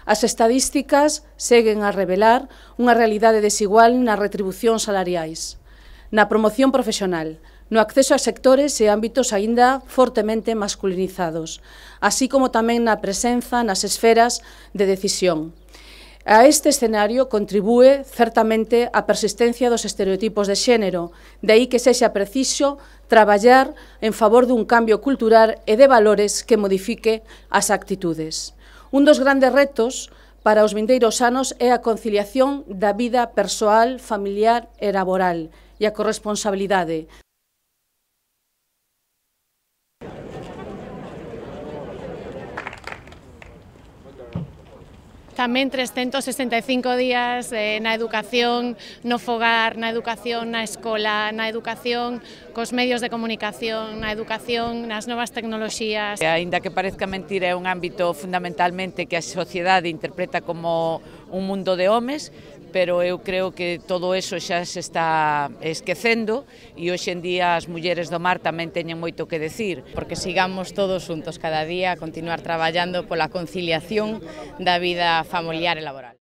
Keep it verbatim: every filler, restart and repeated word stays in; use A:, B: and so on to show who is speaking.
A: As estadísticas seguen a revelar unha realidade desigual nas retribucións salariais, na promoción profesional, no acceso a sectores e ámbitos aínda fortemente masculinizados, así como tamén na presenza nas esferas de decisión. A este escenario contribúe certamente a persistencia dos estereotipos de xénero, de aí que sexa preciso traballar en favor dun cambio cultural e de valores que modifique as actitudes. Un dos grandes retos para os vindeiros anos é a conciliación da vida persoal, familiar e laboral e a corresponsabilidade.
B: Tamén trescentos sesenta e cinco días eh, na educación, no fogar, na educación, na escola, na educación, cos medios de comunicación, na educación, nas novas tecnoloxías.
C: Aínda que parezca mentira, é un ámbito fundamentalmente que a sociedade interpreta como un mundo de homes, pero eu creo que todo eso xa se está esquecendo e hoxe en día as mulleres do mar tamén teñen moito que decir.
D: Porque sigamos todos xuntos cada día a continuar traballando pola conciliación da vida familiar e laboral.